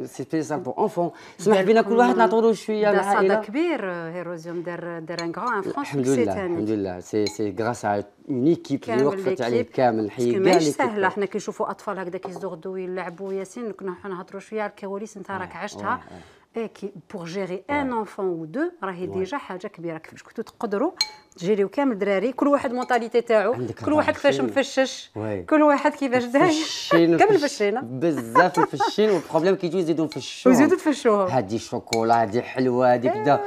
سي سبيسيال بور انفون سمح بينا كل واحد نعطوا له شويه العائله. صدى كبير هيروزيوم دار دار ان غران ان فرونس الحمد لله الحمد لله سي سي غراس اون ايكيب اللي وقفت عليه كامل نحيي كاع ماشي سهله. حنا كي نشوفوا اطفال هكذا كيزدوا غدو يلعبوا ياسين كنا نهضروا شويه على الكواليس انت راك عشتها اي كي بوغ جيري ان انفون او دو راهي ديجا حاجه كبيره. كيفاش كنتوا تقدروا تجيريو كامل دراري كل واحد مونطاليتي تاعو كل واحد كيفاش مفشش كل واحد كيفاش داير كامل فشينا بزاف مفشين والبروبليم كيجيو يزيدوا نفشوهم ويزيدوا تفشوهم هادي شوكولا هادي حلوه هادي كدا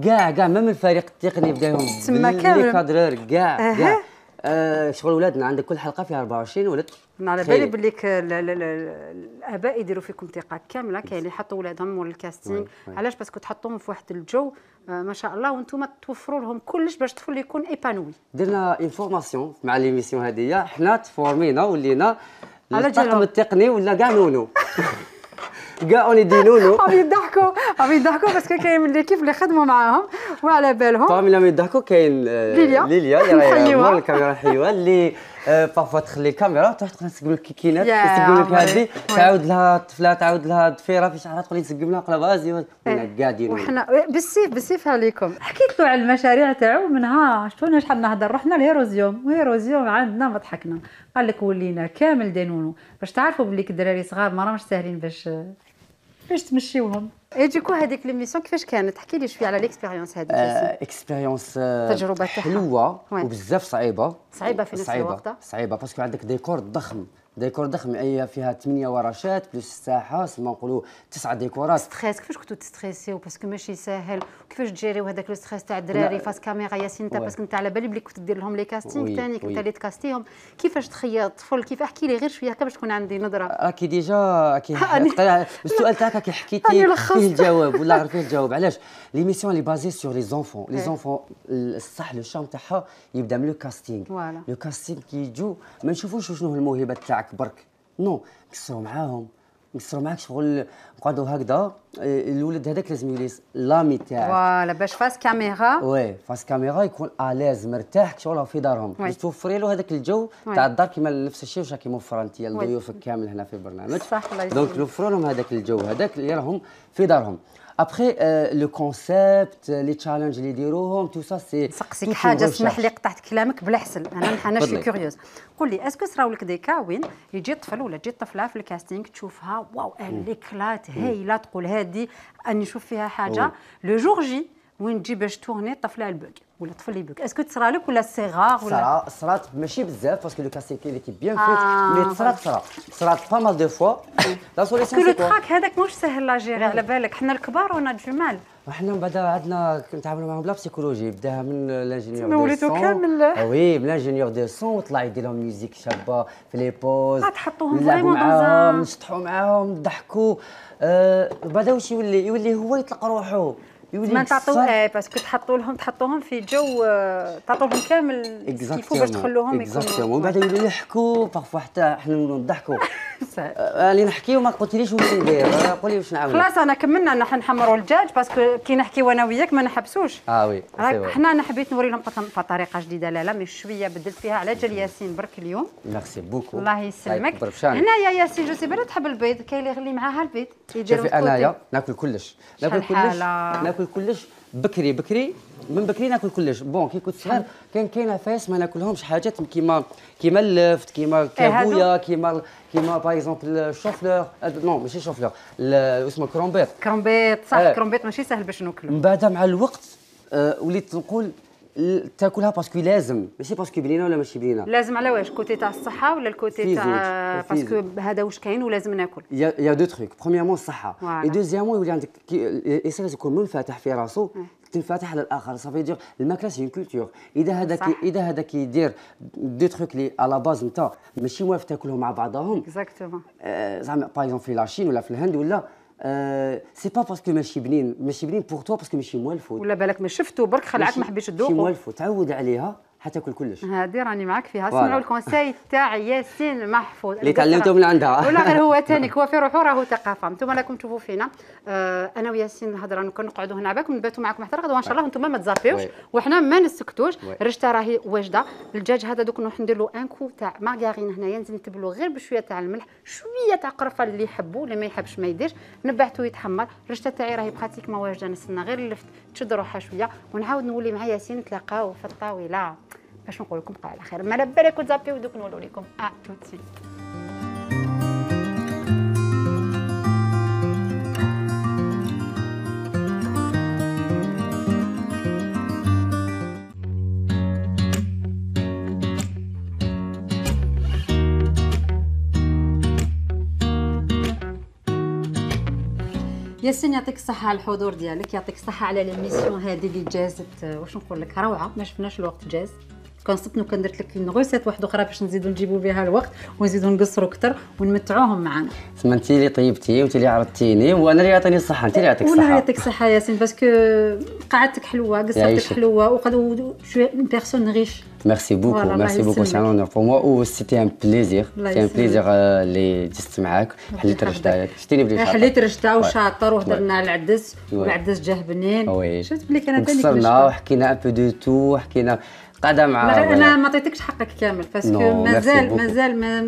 كاع كاع ميم الفريق التقني بداهم تما كامل لي كادرور كاع كاع آه شغل ولادنا عندك كل حلقه فيها أربعة وعشرين ولد. على بالي باللي الاباء يديروا فيكم ثقه كامله كاين اللي يحطوا ولادهم مول الكاستينغ. علاش؟ باسكو تحطوهم في واحد الجو آه ما شاء الله وانتم توفروا لهم كلش باش الطفل يكون ايبانوي. درنا انفورماسيون مع ليميسيون هذه حنا تفورمينا ولينا الطاقم التقني ولا كاع نونو كاع اوني دي نونو عم يضحكوا عم يضحكوا باسكو كاين من ليكيب اللي خدموا معاهم وعلى بالهم طبعا لما يضحكوا كاين ليليا ليليا اللي راهي مول الكاميرا الحلوه اللي بارفوا تخلي الكاميرا تروح تقول تسقم لك كيكينات تسقم لك هذه تعاود لها الطفله تعاود لها الضفيره في شعرها تقول نسقم لها قلب غازي وحنا قاعدين وحنا بالسيف بالسيف عليكم. حكيت له على المشاريع تاعو منها شفتونا شحال نهضر رحنا لهيروزيوم وهيروزيوم عندنا ما ضحكنا قال لك ولينا كامل دينونو باش تعرفوا بلي الدراري صغار ما راهمش ساهلين باش باش تمشيوهم. اي ديكو هذيك ليميسيون كيفاش كانت؟ احكي لي شويه على ليكسبيريونس هذيك. اكسبيريونس تجربه حلوه وبزاف صعيبه صعيبه في نفس الوقت صعيبه باسكو عندك ديكور ضخم ديكور ضخم اي فيها ثمانية ورشات بلس الساحه سما نقولوا تسعه ديكورات. ستريس كيفاش كنتوا تستريسيو باسكو ماشي ساهل وكيفاش تجيريو هذاك لو ستريس تاع الدراري فاس كاميرا ياسين انت باسكو انت على بالي بلي كنت دير لهم لي كاستينغ ثاني كنت اللي تكاستيهم كيفاش تخيط الطفل كيف احكي لي غير شويه هكا باش تكون عندي نظره. راكي ديجا كي السؤال تاعك كي حكيتي فيه الجواب ولا غير فيه الجواب. علاش ليميسيون لي بازي سور لي زونفون لي زونفون الصح لو شام تاعها يبدا من لو كاستينغ لو كاستينغ كي يجوا ما نشوفوش شنو الموهبه تاعك برك نو نكسروا معاهم نكسروا معاك شغل نقعدوا هكذا الولد هذاك لازم يولي لامي تاعك فوالا باش فاس كاميرا وي فاس كاميرا يكون اليز مرتاح شغل في دارهم باش توفري له هذاك الجو تاع الدار كيما نفس الشيء واش راكي موفره انت لضيوفك كامل هنا في البرنامج دونك نوفروا لهم هذاك الجو هذاك اللي راهم في دارهم. ابخي لو كونسيبت لي تشالنج اللي يديروهم تو سا سي نسقسيك حاجه اسمح لي قطعت كلامك بلا حسن انا انا شي كوريوز. قول لي اسكو صراو لك دي كا وين يجي طفل ولا تجي طفله في الكاستينغ تشوفها واو ليكلات هايله تقول هذه اني نشوف فيها حاجه لو جور جي وين تجي باش تورني طفله البوك ولا طفل يبوك اسكو تصرا لك ولا صغار ولا صرا صرات ماشي بزاف باسكو لو كاستينغ اللي كي بيان في مي صرات صرا صرات با مال دو فوا لا سوليسيون سي كو لو تراك هذاك مش سهل لا جيري على بالك حنا الكبار ونا جمال وحنا من بعد عندنا نتعاملوا معاهم بلا بسيكولوجي بداها من لانجينيور دو سون كامل وي من لانجينيور دو سون وطلع يدير لهم ميوزيك شابه في لي بوز تحطوهم فريمون معاهم نشطحوا معاهم نضحكوا آه بعدا واش يولي يولي هو يطلق روحه ما تعطوا ايه باسكو تحطوا لهم تحطوهم في جو تعطوا لهم كامل كيفو باش تخلوهم يكونوا ومن بعد يولوا يحكوا بارفو حتى احنا نضحكوا اللي نحكيو ما قلتليش واش ندير قولي واش نعمل. خلاص انا كملنا نحن نحمروا الدجاج باسكو كي نحكيو انا وياك ما نحبسوش. اه وي حنا انا حبيت نوري لهم بطريقه جديده لا لا مي شويه بدلت فيها على جال ياسين برك اليوم. ميرسي بوكو الله يسلمك. هنايا ياسين جو سي بلا تحب البيض كاين اللي يغلي معاها البيض شوفي انايا ناكل كلش ناكل كلش ناكل كلش بكري بكري من بكري ناكل كلش. بون كي كنت صغير كان كاين عفايس ما ناكلهمش حاجات كيما كيما اللفت كيما الكابويا كيما كيما باغ اكزومبل الشوفلور نو ماشي شوفلور اسمه كرومبيط كرومبيط صح آه. كرومبيط ماشي سهل باش ناكلو. من بعد مع الوقت آه وليت نقول تاكلها باسكو لازم ماشي باسكو بنينه ولا ماشي بنينه. لازم على واش كوتي تاع الصحه ولا الكوتي تاع باسكو هذا واش كاين ولازم ناكل. يا يا دو تروك برومييرمون الصحه اي دوزيامون يولي عندك الانسان لازم يكون منفتح في راسو تنفتح على الاخر صافي دير الماكله سي كولتور. اذا هذاك اذا هذاك يدير دو تروك لي على باز نتاع ماشي موالف تاكلهم مع بعضهم اكزاكتومون زعما باغ اكزومبل في لاشين ولا في الهند ولا أه سي با باسكو ماشي بنين ماشي بنين بور توا باسكو ماشي موالفو ولا بالك ما شفتو برك خلعك ما حبيتش تذوقو ماشي موالفو تعود عليها حتاكل كلش. هادي راني معاك فيها. سمعوا الكونساي تاع ياسين محفوظ اللي تعلمته من عندها ولا غير هو ثاني هو في روحو راهو ثقافه. انتم راكم تشوفوا فينا آه انا وياسين الهضره نقعدوا هنا عباكم نباتوا معكم حتى غدوه ان شاء الله وانتم ما تزابيوش وحنا ما نسكتوش. الرشته راهي واجده. الدجاج هذا دوك نروح ندير له ان كو تاع مارغارين هنايا نزيد نتبلو غير بشويه تاع الملح شويه تاع قرفه اللي يحبوا اللي ما يحبش ما يديرش نبعته يتحمر. الرشته تاعي راهي براتيك ما واجده نستنى غير اللفت تشد روحها شويه ونعاود نولي مع ياسين نتلاقاو في الطاوله باش نقول لكم بقاو على خير. ما على بالك وتزابيو دوك نقولوا لكم ا توتسي. ياسين يعطيك الصحة على الحضور ديالك، يعطيك الصحة على ليميسيون هذه اللي جازت واش نقول لك روعة، ما شفناش الوقت جاز. كان صدت كان درت لك اون غوسيت واحده اخرى باش نزيدو نجيبوا بها الوقت ونزيدو نقصروا اكثر ونمتعوهم معنا. تما انت اللي طيبتي وانت اللي عرضتيني وانا اللي عطيني الصحة، انت اللي يعطيك الصحة. والله يعطيك الصحة ياسين باسكو قعدتك حلوة، قصرتك حلوة وقد شو بيرسون ريش. Merci beaucoup, merci beaucoup, c'est un honneur pour moi ou c'était un plaisir, c'est un plaisir اللي جلست معاك. حليت رشدة، شتيني بلي شاطر. حليت رشدة وشاطر وهضرنا على العدس والعدس جاه بنين. شفت بلي كان ثاني قصرنا وحكينا ان بو دو تو، حكينا قاعدة مع. انا ما عطيتكش حقك كامل باسكو مازال مازال ما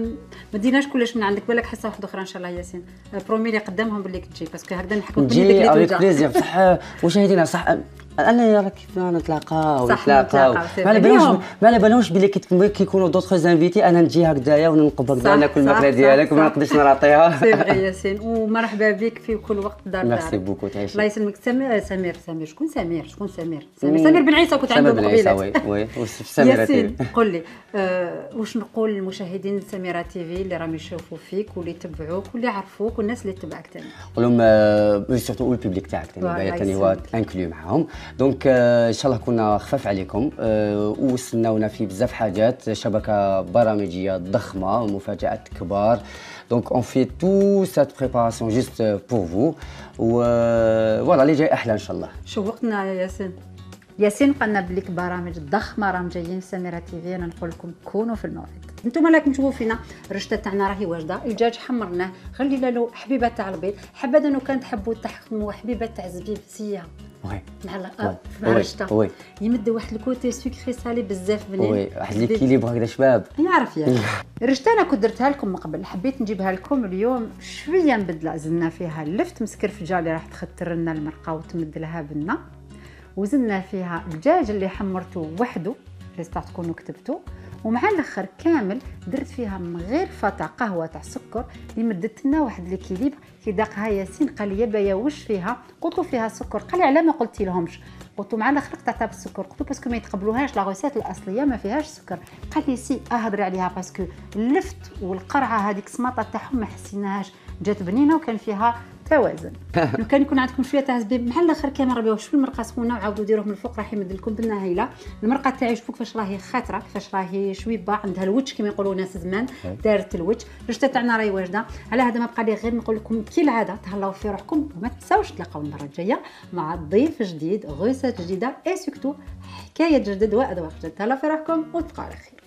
ما ديناش كلش من عندك، بالك حصه واحده اخرى ان شاء الله ياسين. برومي اللي قدامهم باللي تجي باسكو هكذا نحكوا باللي ديك اللي توجع. بليزير بصح مشاهدينا صح انا راك نتلاقاو ونتلاقاو ما على بالهمش ما على بالهمش بلي كيكونوا دوطخ زانفيتي انا نجي هكذايا وننقب هكذا ناكل الماكله ديالك وما نقدرش نعطيها. سي فغي ياسين ومرحبا بك في كل وقت دار دارك. ميرسي بوكو تعيشي. الله يسلمك. سمير سمير سمير شكون سمير شكون سمير سمير سمير بن عيسى كنت عنده قبيله. وي وي سمير ياسين قول لي أه واش نقول للمشاهدين سميرة تيفي اللي راهم يشوفوا فيك واللي يتبعوك واللي يعرفوك والناس اللي تتبعك ثاني؟ نقول لهم سورتو البوبليك تاعك ثاني ثاني هو انكلو معاهم. دونك ان شاء الله كنا خفاف عليكم ووصلناونا في بزاف حاجات، شبكه برامجيه ضخمه ومفاجات كبار. دونك اون في تو سات بريباراسيون جوست بور فو و فوالا اللي جاي احلى ان شاء الله. شوقتنا يا ياسين. ياسين قالنا بليك برامج ضخمه راهم جايين في سميرة تيفي. انا نقول لكم كونوا في الموعد. انتم راكم تشوفوا فينا الرشته تاعنا راهي واجده، الدجاج حمرناه خلينا له حبيبه تاع البيض، حبذا انه كان تحبوا تحموا حبيبه تاع الزبيب سيه وي مع مع الرشته يمد واحد الكوتي سكري سالي بزاف بنين. وي واحد ليكيليبر هكذا شباب يعرف يا الرشته. انا كنت درتها لكم من قبل، حبيت نجيبها لكم اليوم شويه نبدلها. زدنا فيها اللفت مسكرفجه اللي راح تختر لنا المرقه وتمد لها بنا، وزدنا فيها الدجاج اللي حمرته وحده جيسبر تكونوا كتبتوا، ومع الاخر كامل درت فيها من غير فتا قهوه تاع سكر اللي مدت لنا واحد ليكيليبر. كي داقها ياسين قال لي بايا واش فيها؟ قلت له فيها سكر. قال لي علاه ما قلتي لهمش؟ قلت له مع الاخر قطعتها بالسكر. قلت له باسكو ما يتقبلوهاش لا غوسيت الاصليه ما فيهاش سكر. قال لي سي اهضري عليها باسكو اللفت والقرعه هذيك السماطه تاعهم ما حسيناهاش، جات بنينه وكان فيها توازن. لو كان يكون عندكم شويه تاع زبيب مع الاخر كامل ربيو شويه المرقه سخونه وعاودوا ديروه من الفوق راح يمد لكم بنا هايله. المرقه تاعي شوفوا كيفاش راهي خاطره، كيفاش راهي شويبه عندها الوجه كما يقولوا ناس زمان دارت الوجه. الرشته تاعنا راهي واجده. على هذا ما بقى لي غير نقول لكم كالعاده تهلاو في روحكم وما تنساوش تلاقاو المره الجايه مع ضيف جديد غوسات جديده اي سورتو حكايه جدد واذواق جدد. تهلاو في روحكم وتبقاو على خير.